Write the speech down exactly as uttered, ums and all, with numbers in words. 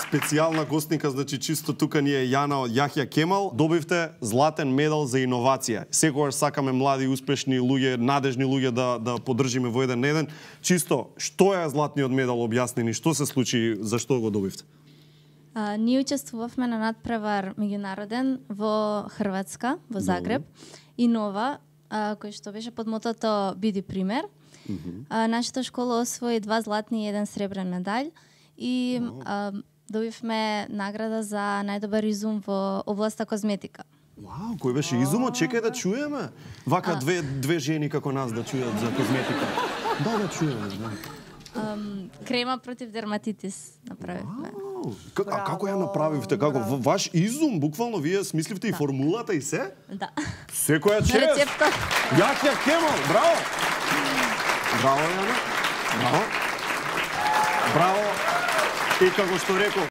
специјална гостника, значи чисто тука ни е Јана Јахја Кемал. Добивте златен медал за иновација. Секогаш сакаме млади, успешни луѓе, надежни луѓе да да поддржиме во еден на еден. Чисто, што е златниот медал, објасни ни, што се случи, зашто го добивте? А, ние учествувавме на надпревар меѓународен во Хрватска, во Загреб, и нова, а, кој што беше под мотото Биди пример. Mm -hmm. а, нашата школа освои два златни и еден сребрен медалј и wow. а, добивме награда за најдобар изум во областа козметика. Вау, кој беше изумот? Чекај да чуеме. Вака а... две две жени како нас да чујат за козметика. Да, да чуеме, да. Um, крема против дерматитис направивме. Wow. А како ја направивте? Како Браво. Ваш изум, буквално вие смисливте да. И формулата и се? Да. Секоја чест. Рецепта. Јахја Кемал, браво. Браво, Јана. Браво. Браво. И како што реков,